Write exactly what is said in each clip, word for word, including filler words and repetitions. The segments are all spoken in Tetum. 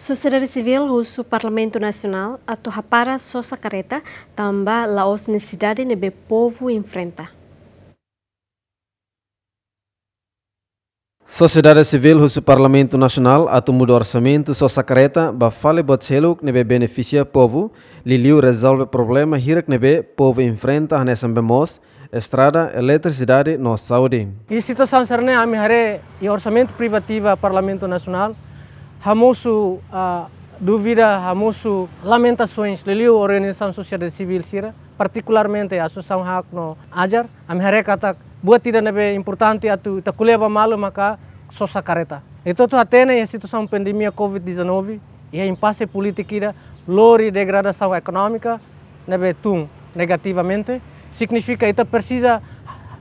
Sosiedade sivíl husu Parlamentu Nasionál atu hapara sosa karreta tanba la'ós nesesidade ne'ebé povu enfrenta. Sosiedade sivíl husu Parlamentu Nasionál atu muda orsamentu sosa karreta ba fali buat seluk ne'ebé benefisia povu, liuliu rezolve problema hirak ne'ebé povu enfrenta hanesan bee moos, estrada, eletrisidade no saúde. Iha situasaun sira-ne'e ami haree iha orsamentu privativa Parlamentu Nasionál hamosu, ah, dúvida, hamosu lamentasaun, liuliu organizasaun sosiedade sivíl sira, partikularmente Asosiasaun HAK no AJAR, ami haree katak buat ida ne'ebé importante atu ita ko'alia ba malu maka sosa karreta. Ita hotu hatene iha situasaun pandemia covid dezanove, iha impase polítika ida, lori degradasaun ekonómika ne'ebé tun negativamente, signifika ita presiza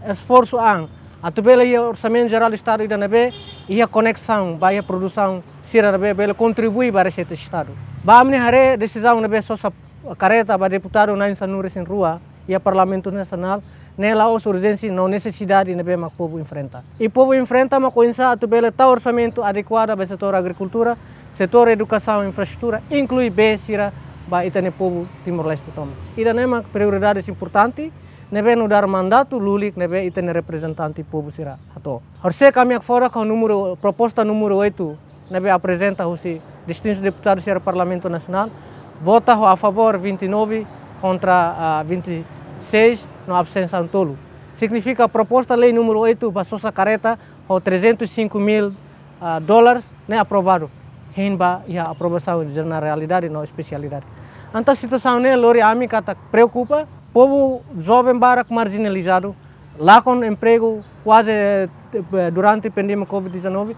esforsu an atu bele iha Orsamentu Jerál Estadu ida ne'ebé iha koneksaun ba iha produsaun sira ne'ebé bele kontribui ba reseita Estadu. Ba ami-nia haree desizaun ne'ebé sosa karreta ba deputadu na'in sanulu-resin-rua iha Parlamentu Nasionál ne'e la'ós urjénsia no nesesidade ne'ebé mak povu enfrenta. I povu enfrenta mak oinsá atu bele tau orsamentu adekuada ba setór agrikultura, setór edukasaun, infraestrutura, inklui bee sira ba ita-nia povu Timor-Leste tomak. Ida-ne'e mak prioridades importante ne'ebé nu'udar mandatu lulik ne'ebé ita-nia reprezentante povu sira hato'o. Horisehik ami hakfodak ho númeru, proposta númeru oitu ne'ebé aprezenta husi distintus deputadu sira Parlamentu Nasionál, vota ho a favór vinte e nove, kontra, ah, vinte e seis, no abstensaun tolu. Signifika proposta lei númeru oitu ba sosa karreta ho trezentos e cinco mil, ah, dólares ne'e aprovadu. Hein ba iha aprovasaun jeneralidade no espesialidade. Entaun situasaun ne'e lori ami katak preokupa, povu joven barak marjinalizadu, lakon empregu kuaze, eh, durante pandemia covid dezanove,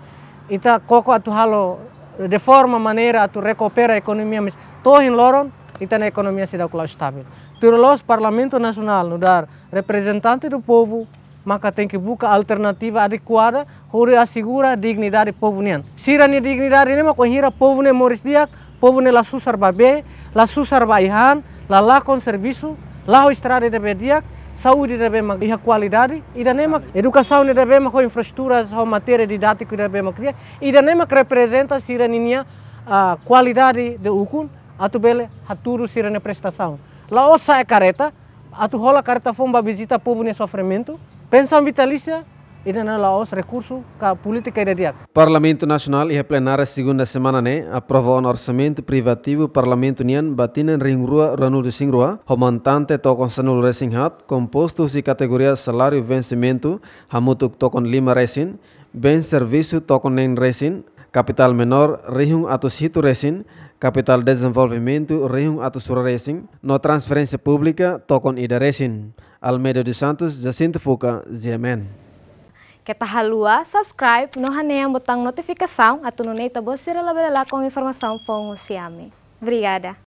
ita koko atu halo de forma maneira atu rekupera ekonomia, mas to'o ohin loron ita-nia ekonomia seidauk la'o estavel. Tuir loloos Parlamentu Nasionál nu'udar reprezentante do povu maka tenke buka alternativa adekuada hodi asegura dignidade povu nian. Sira-nia dignidade ne'e mak wainhira povu ne'e moris di'ak, povu ne'e la susar ba bee, la susar ba ai-han, la lakon servisu, la ho estrada ne'ebé di'ak, saúde ne'ebé mak iha kualidade, ida-ne'e mak edukasaun ne'ebé mak ho infraestruturas, ho materiál didátiku ne'ebé mak di'ak, ida-ne'e mak reprezenta sira-ninia, ah, kualidade de ukun atu bele hatudu sira-nia prestasaun. La'ós sa'e karreta atu hola karreta foun ba vizita povu nia sofrimentu, pensaun vitalísia, ida-ne'e la'ós rekursu ka polítika ida di'ak. Parlamentu Nasionál iha plenária segunda semana ne'e aprova ona orsamentu privativu Parlamentu nian ba tinan rihun rua ruanulu-resin-rua, ho montante tokon sanulu-resin-haat, kompostu husi kategoria saláriu vensimentu hamutuk tokon lima-resin, bens servisu tokon neen-resin, kapitál menór rihun atus hitu-resin, kapitál dezenvolvimentu rihun atus rua-resin, no transferénsia públika tokon ida-resin. Almeida dos Santos, Jacinto Fuca, G M N. Keta haluha subscribe no hanehan botaun notifikasaun atu nune'e ita-boot sira labele lakon informasaun foun husi ami. Obrigada.